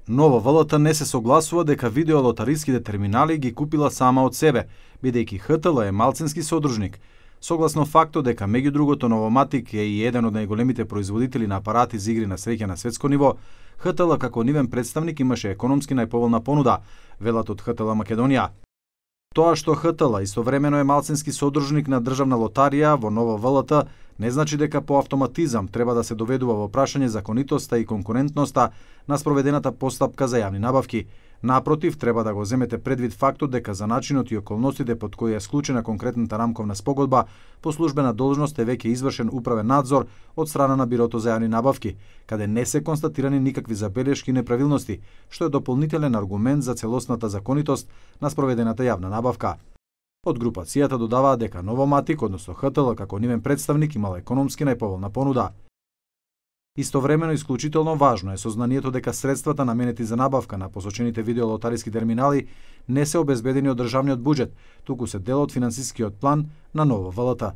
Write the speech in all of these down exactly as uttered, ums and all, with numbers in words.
Нова В Л Т не се согласува дека видеолотариските терминали ги купила сама од себе, бидејќи Х Т Л е малцински содружник. Согласно фактот дека меѓу другото Новоматик е и еден од најголемите производители на апарати за игри на среќа на светско ниво, Х Т Л како нивен представник имаше економски најповолна понуда, велат од Х Т Л Македонија. Тоа што Х Т Л истовремено е малцински содружник на државна лотарија во Нова В Л Т не значи дека по автоматизам треба да се доведува во прашање законитоста и конкурентноста на спроведената постапка за јавни набавки. Напротив, треба да го земете предвид фактот дека за начинот и околностите под кои е склучена конкретната рамковна спогодба, по службена должност е веќе извршен управен надзор од страна на Бирото за јавни набавки, каде не се констатирани никакви забелешки и неправилности, што е дополнителен аргумент за целосната законитост на спроведената јавна набавка. Од групацијата додаваа дека Новоматик, односно Х Т Л како нивен представник, имал економски најповолна понуда. Истовремено исклучително важно е сознанието дека средствата наменети за набавка на посочените видеолотариски терминали не се обезбедени од државниот буџет, туку се дел од финансискиот план на Нова В Л Т.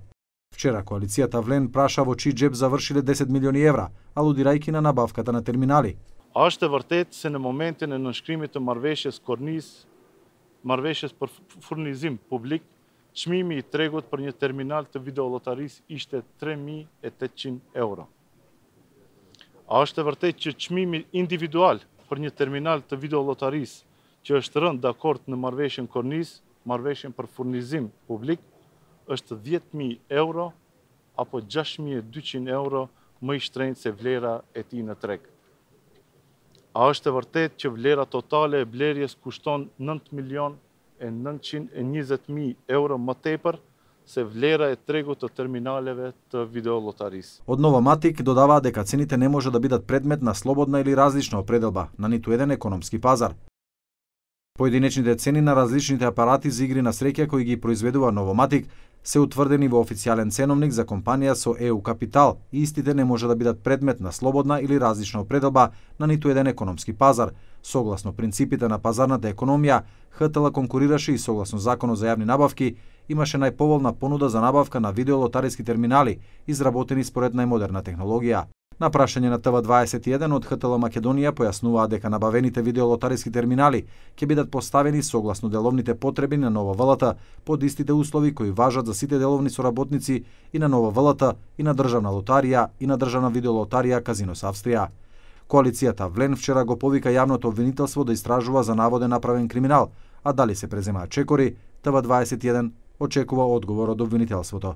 Вчера коалицијата Влен праша во чиј джеб завршиле десет милиони евра, алудирајќи на набавката на терминали. Është e vërtet se në momentin e nënshkrimit të marrëveshjes kornis, marrëveshjes për furnizim publik, çmimi i tregut për një terminal të videolotarisë ishte tre mijë e tetëqind euro. A është e vërtet që çmimi individual për një terminal të videolotarisë që është rënë dakord në marrëveshjen kornis, marrëveshjen për furnizim publik, është dhjetë mijë euro apo gjashtë mijë e dyqind euro më i shtrenjtë se vlera e tij në treg. A është e vërtet që vlera totale e blerjes kushton nëntë milion e nëntëqind e njëzet mijë euro më tepër se vlera e tregut të terminaleve të videolotarisë. Од Новоматик додаваа дека цените не може да бидат предмет на слободна или различна определба на ниту еден економски пазар. Поединечните цени на различните апарати за игри на среќа кои ги произведува Новоматик се утврдени во официјален ценовник за компанија со Е У капитал и истите не може да бидат предмет на слободна или различна определба на ниту еден економски пазар. Согласно принципите на пазарната економија, Х Т Л конкурираше и согласно Законот за јавни набавки имаше најповолна понуда за набавка на видеолотариски терминали, изработени според најмодерна технологија. На прашање на Т В дваесет и еден од Х Т Л Македонија појаснуваа дека набавените видеолотариски терминали ќе бидат поставени согласно деловните потреби на Нова В Л Т под истите услови кои важат за сите деловни соработници и на Нова В Л Т, и на Државна лотарија, и на Државна видеолотарија Казинос Австрија. Коалицијата Влен вчера го повика јавното обвинителство да истражува за наводен направен криминал, а дали се преземаат чекори, Т В дваесет и еден очекува одговор од обвинителството.